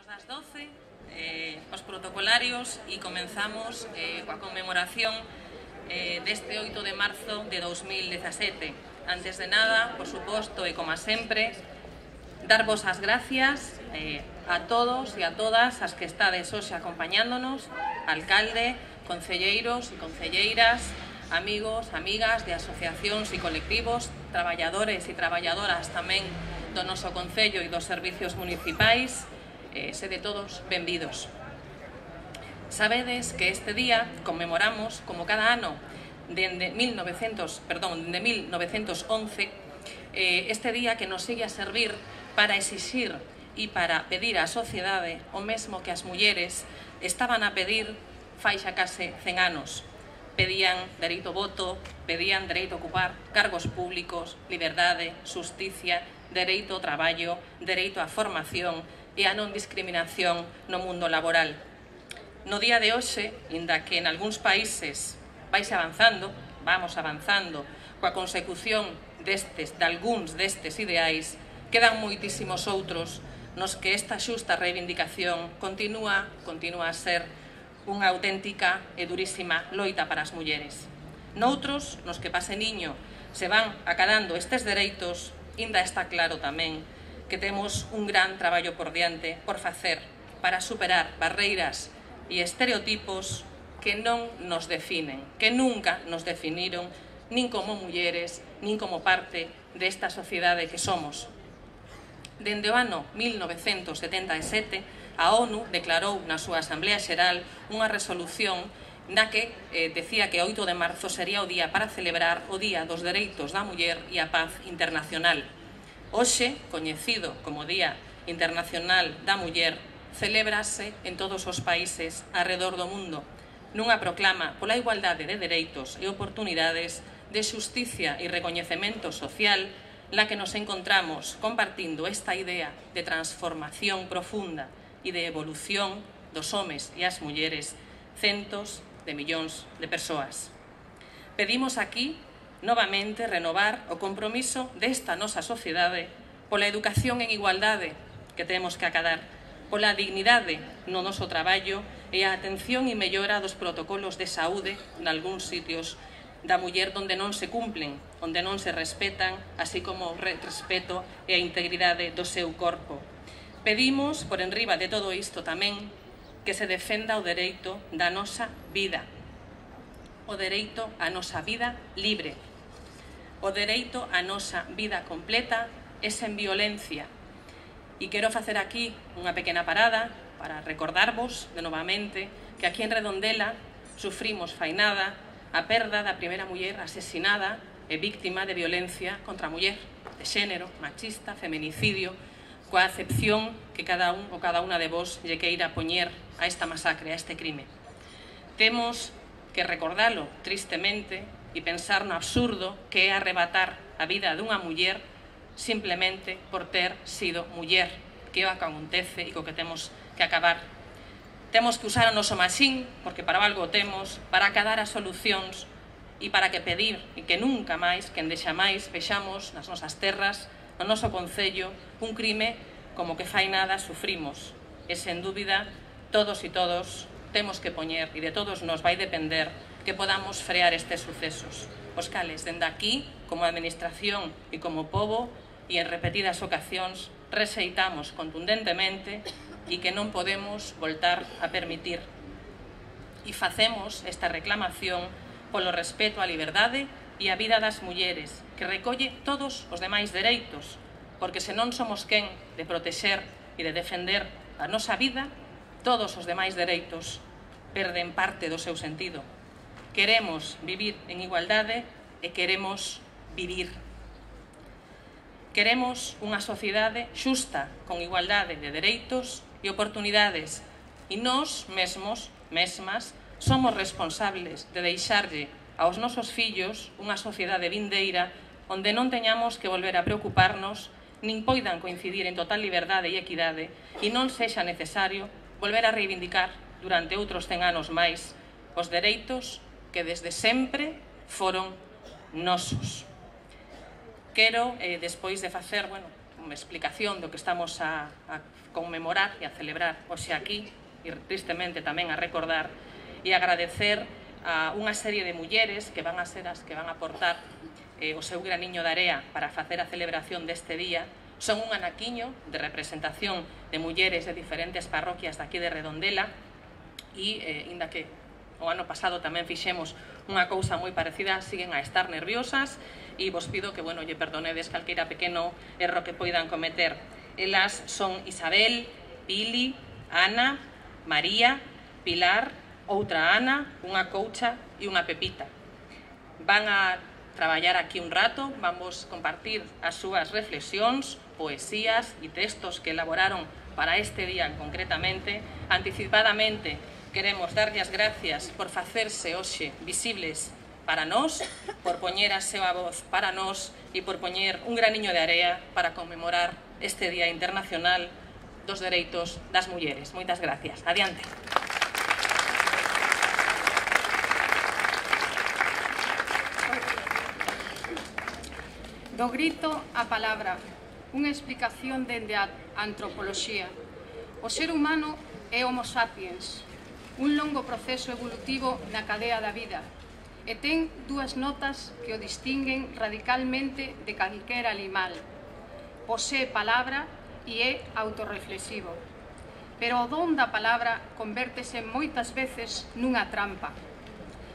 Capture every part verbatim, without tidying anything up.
das doce, eh, os protocolarios, e comenzamos eh, coa conmemoración eh, deste oito de marzo de dos mil dezasete. Antes de nada, por suposto, e como sempre, darvos as gracias eh, a todos e a todas as que estades hoxe acompañándonos, alcalde, concelleiros e concelleiras, amigos, amigas de asociacións e colectivos, traballadores e traballadoras tamén do noso Concello e dos servicios municipais, eh, sede todos benvidos. Sabedes que este día conmemoramos, como cada ano, dende mil novecentos, perdón, de mil novecentos once, eh, este día que nos sigue a servir para exixir e para pedir á sociedade o mesmo que as mulleres estaban a pedir fai xa case cen anos. Pedían dereito ao voto, pedían dereito a ocupar cargos públicos, liberdade, xusticia, dereito ao traballo, dereito á formación e a non discriminación no mundo laboral. No día de hoxe, inda que en algúns países vais avanzando, vamos avanzando, coa consecución destes, de algúns destes ideais, quedan moitísimos outros nos que esta xusta reivindicación continúa, continúa a ser unha auténtica e durísima loita para as mulleres. Noutros, nos que pase niño, se van acadando estes dereitos, inda está claro tamén que temos un gran traballo por diante por facer para superar barreiras e estereotipos que non nos definen, que nunca nos definiron nin como mulleres, nin como parte desta sociedade que somos. Dende o ano mil novecentos setenta e sete, a ONU declarou na súa Asamblea Xeral unha resolución na que eh, decía que oito de marzo sería o día para celebrar o Día dos Dereitos da Muller e a Paz Internacional. Hoxe, coñecido como Día Internacional da Muller, celébrase en todos os países arredor do mundo nunha proclama pola igualdade de dereitos e oportunidades, de xusticia e recoñecemento social, na que nos encontramos compartindo esta idea de transformación profunda e de evolución dos homes e as mulleres, centos de millóns de persoas. Pedimos aquí, novamente, renovar o compromiso desta nosa sociedade pola educación en igualdade que temos que acadar, pola dignidade no noso traballo e a atención e mellora dos protocolos de saúde nalgúns sitios da muller onde non se cumplen, onde non se respetan, así como o respeto e a integridade do seu corpo. Pedimos, por enriba de todo isto tamén, que se defenda o dereito da nosa vida, o dereito á nosa vida libre, o dereito á nosa vida completa e sen violencia. E quero facer aquí unha pequena parada para recordarvos de novamente que aquí en Redondela sufrimos fai nada a perda da primeira muller asesinada e víctima de violencia contra a muller, de xénero, machista, feminicidio, coa acepción que cada un ou cada unha de vos lle queira poñer a esta masacre, a este crime. Temos que recordalo tristemente e pensar no absurdo que é arrebatar a vida dunha muller simplemente por ter sido muller, que é o que acontece e co que temos que acabar. Temos que usar o noso maxín, porque para algo o temos, para acadar as solucións e para que pedir e que nunca máis, que endexa máis, vexamos nas nosas terras, no noso concello, un crime como que fai nada sufrimos. E, sen dúbida, todos e todos temos que poñer, e de todos nos vai depender, que podamos frear estes sucesos. Os cales, dende aquí, como administración e como pobo, e en repetidas ocasións, rexeitamos contundentemente e que non podemos voltar a permitir. E facemos esta reclamación polo respeto á liberdade e á vida das mulleres, que recolle todos os demais dereitos, porque se non somos quen de protexer e de defender a nosa vida, todos os demais dereitos perden parte do seu sentido. Queremos vivir en igualdade e queremos vivir. Queremos unha sociedade xusta, con igualdade de dereitos e oportunidades, e nós mesmos, mesmas, somos responsables de deixarlle aos nosos fillos unha sociedade vindeira onde non teñamos que volver a preocuparnos, nin poidan coincidir en total liberdade e equidade, e non sexa necesario volver a reivindicar durante outros cen anos máis os dereitos que desde sempre foron nosos. Quero, eh, despois de facer, bueno, explicación do que estamos a, a conmemorar e a celebrar hoxe aquí, e tristemente tamén a recordar, e agradecer a unha serie de mulleres que van a ser as que van a aportar eh, o seu graniño de area para facer a celebración deste día. Son un anaquiño de representación de mulleres de diferentes parroquias daqui de Redondela e, eh, inda que o ano pasado tamén fixemos unha cousa moi parecida, siguen a estar nerviosas e vos pido que, bueno, lle perdonedes calqueira pequeno erro que poidan cometer. Elas son Isabel, Pili, Ana, María, Pilar, outra Ana, unha coucha e unha Pepita. Van a traballar aquí un rato, vamos compartir as súas reflexións, poesías e textos que elaboraron para este día concretamente. Anticipadamente queremos darlle as gracias por facerse hoxe visibles para nós, por poñer a súa voz para nós e por poñer un graniño de area para conmemorar este Día Internacional dos Dereitos das Mulleres. Moitas gracias. Adiante. Do grito a palabra, unha explicación dende a antropoloxía. O ser humano é Homo sapiens, un longo proceso evolutivo na cadea da vida, e ten dúas notas que o distinguen radicalmente de calquera animal. Posee palabra e é autorreflexivo. Pero o don da palabra convértese moitas veces nunha trampa.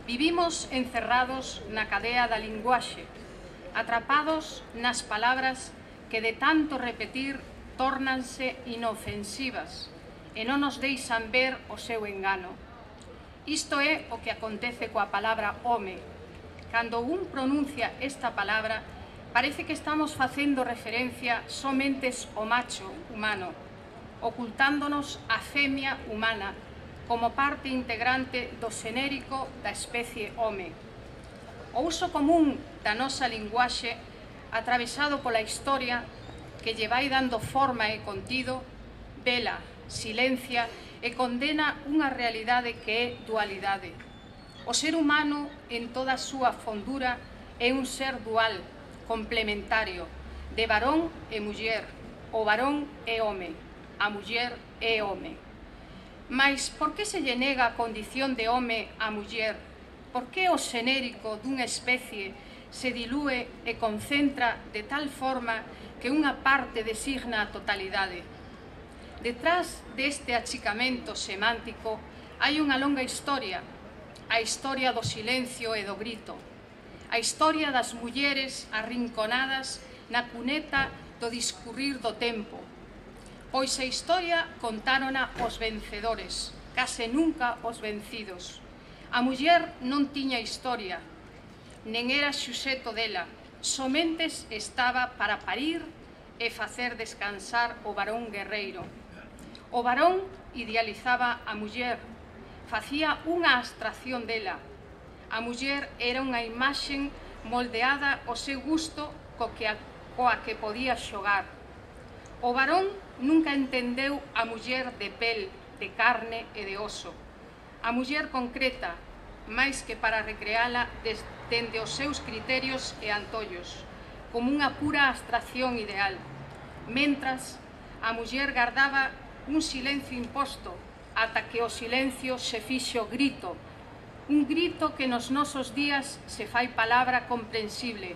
Vivimos encerrados na cadea da linguaxe, atrapados nas palabras que de tanto repetir tórnanse inofensivas e non nos deixan ver o seu engano. Isto é o que acontece coa palabra home. Cando un pronuncia esta palabra, parece que estamos facendo referencia somente ao macho humano, ocultándonos a femia humana como parte integrante do xenérico da especie home. O uso común da nosa linguaxe, atravesado pola historia, que lle vai dando forma e contido, vela, silencia e condena unha realidade que é dualidade. O ser humano, en toda a súa fondura, é un ser dual, complementario, de varón e muller. O varón é home, a muller é home. Mais por que se lle nega a condición de home á muller? Por que o xenérico dunha especie se dilúe e concentra de tal forma que unha parte designa a totalidade? Detrás deste achicamento semántico hai unha longa historia, a historia do silencio e do grito, a historia das mulleres arrinconadas na cuneta do discurrir do tempo, pois a historia contárona os vencedores, case nunca os vencidos. A muller non tiña historia, nen era xuxeto dela, somente estaba para parir e facer descansar o varón guerreiro. O varón idealizaba a muller, facía unha abstracción dela. A muller era unha imaxen moldeada ao seu gusto co que a, coa que podía xogar. O varón nunca entendeu a muller de pel, de carne e de oso. A muller concreta, máis que para recreala dende os seus criterios e antollos, como unha pura abstracción ideal, mentras a muller gardaba un silencio imposto ata que o silencio se fixo grito, un grito que nos nosos días se fai palabra comprensible,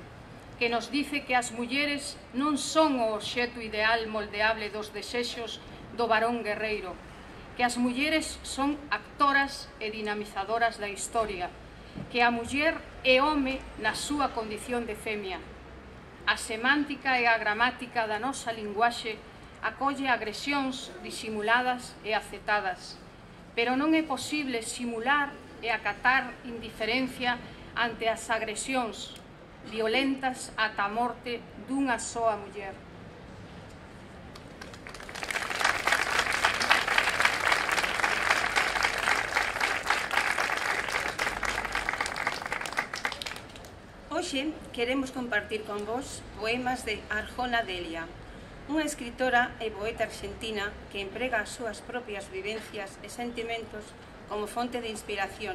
que nos dice que as mulleres non son o obxecto ideal moldeable dos desexos do varón guerreiro, que as mulleres son actoras e dinamizadoras da historia, que a muller é home na súa condición de femia. A semántica e a gramática da nosa linguaxe acolle agresións disimuladas e aceptadas, pero non é posible simular e acatar indiferencia ante as agresións violentas ata a morte dunha soa muller. Hoxe queremos compartir con vos poemas de Arjona Delia, unha escritora e poeta argentina que emprega as súas propias vivencias e sentimentos como fonte de inspiración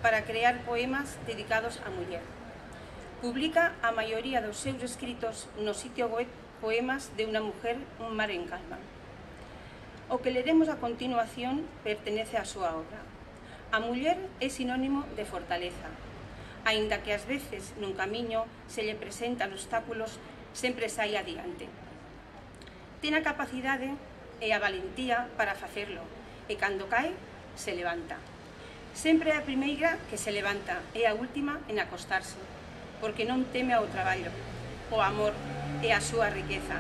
para crear poemas dedicados á muller. Publica a maioría dos seus escritos no sitio web Poemas de una mujer, un mar en calma. O que leremos a continuación pertenece á súa obra. A muller é sinónimo de fortaleza. Aínda que ás veces nun camiño se lle presentan obstáculos, sempre sai adiante. Ten a capacidade e a valentía para facerlo, e cando cae, se levanta. Sempre é a primeira que se levanta e a última en acostarse, porque non teme ao traballo, o amor e a súa riqueza,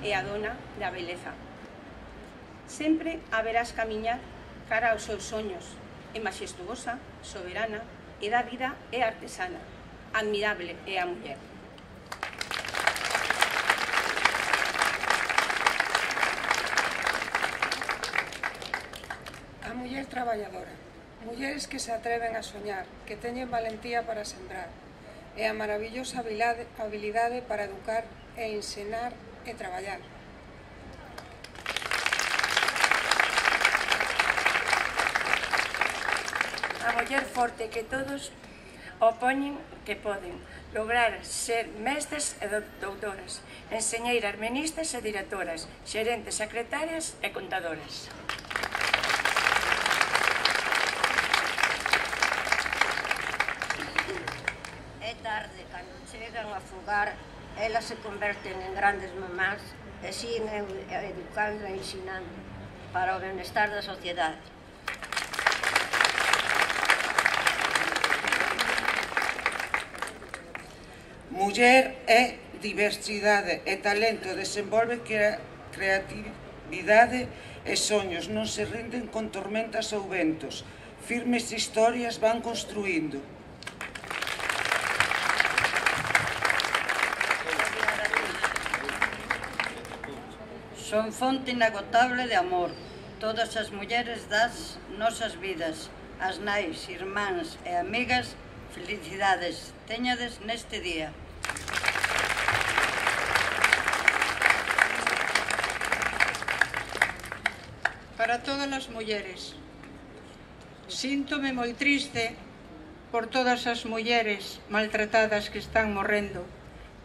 e a dona da beleza. Sempre a verás camiñar cara aos seus soños, é maxestuosa, soberana, e da vida é artesana. Admirable é a muller. A muller traballadora. Mulleres que se atreven a soñar, que teñen valentía para sembrar, e a maravillosa habilidade para educar e ensinar e traballar. A muller forte que todos opoñen que poden lograr ser mestres e doutoras, enseñeiras, ministras e directoras, xerentes, secretarias e contadoras. É tarde, cando chegan a fogar, elas se converten en grandes mamás e siguen educando e ensinando para o benestar da sociedade. Muller é diversidade e talento, desenvolve creatividade e soños, non se rinden con tormentas ou ventos, firmes historias van construindo. Son fonte inagotable de amor, todas as mulleres das nosas vidas, as nais, irmáns e amigas, felicidades, teñades neste día. Para todas as mulleres, síntome moi triste por todas as mulleres maltratadas que están morrendo,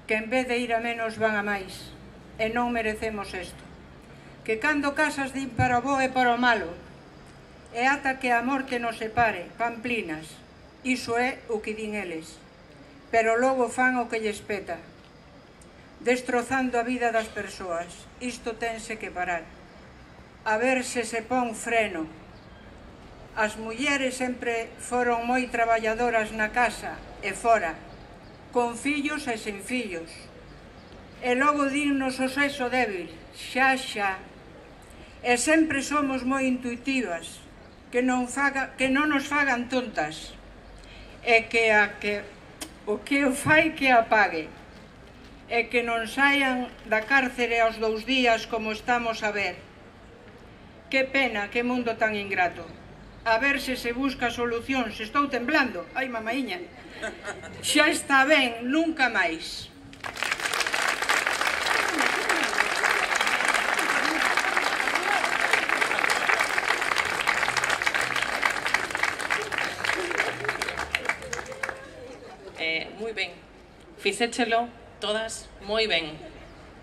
que en vez de ir a menos van a máis, e non merecemos isto. Que cando casas din para o bo e para o malo, e ata que a morte nos separe, pamplinas, iso é o que din eles, pero logo fan o que lles peta, destrozando a vida das persoas. Isto tense que parar. A ver se se pon freno. As mulleres sempre foron moi traballadoras na casa e fora, con fillos e sen fillos. E logo dinnos o sexo débil, xa xa. E sempre somos moi intuitivas, que non, faga, que non nos fagan tontas. E que a que o que o fai que apague. E que non saian da cárcere aos dous días como estamos a ver. Que pena, que mundo tan ingrato. A ver se se busca solución, se estou temblando. Ai, mamaíña. Xa está ben, nunca máis. Eh, moi ben. Fixéchelo todas moi ben.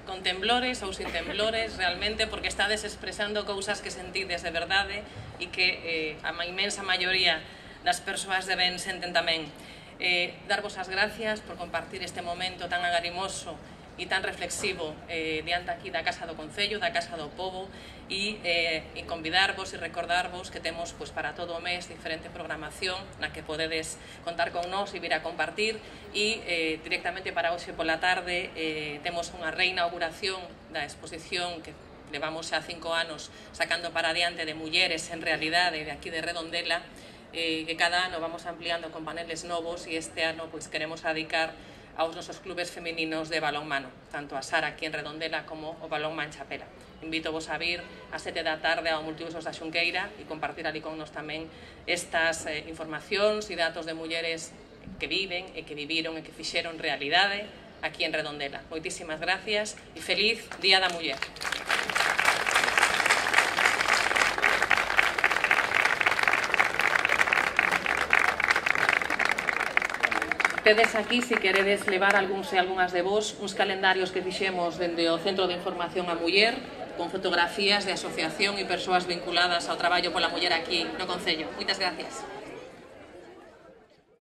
Con temblores ou sin temblores, realmente, porque estades expresando cousas que sentides de verdade e que eh, a inmensa maioría das persoas de ben senten tamén. Eh, darvos as gracias por compartir este momento tan agarimoso e tan reflexivo eh, diante aquí da Casa do Concello, da Casa do Pobo, e, eh, e convidarvos e recordarvos que temos pues, para todo o mes diferente programación na que podedes contar con nós e vir a compartir, e eh, directamente para hoxe pola tarde eh, temos unha reinauguración da exposición que levamos xa cinco anos sacando para adiante de mulleres en realidade de aquí de Redondela, eh, que cada ano vamos ampliando con paneles novos, e este ano pues, queremos dedicar aos nosos clubes femininos de balonmano, tanto a Sara aquí en Redondela como o Balonmán Chapela. Invito vos a vir a sete da tarde ao Multiusos da Xunqueira e compartir ali con nos tamén estas eh, informacións e datos de mulleres que viven e que viviron e que fixeron realidade aquí en Redondela. Moitísimas gracias e feliz Día da Muller. Tedes aquí, se queredes levar algúns e algunhas de vos, uns calendarios que fixemos dende o Centro de Información á Muller, con fotografías de asociación e persoas vinculadas ao traballo pola muller aquí no Concello. Moitas gracias.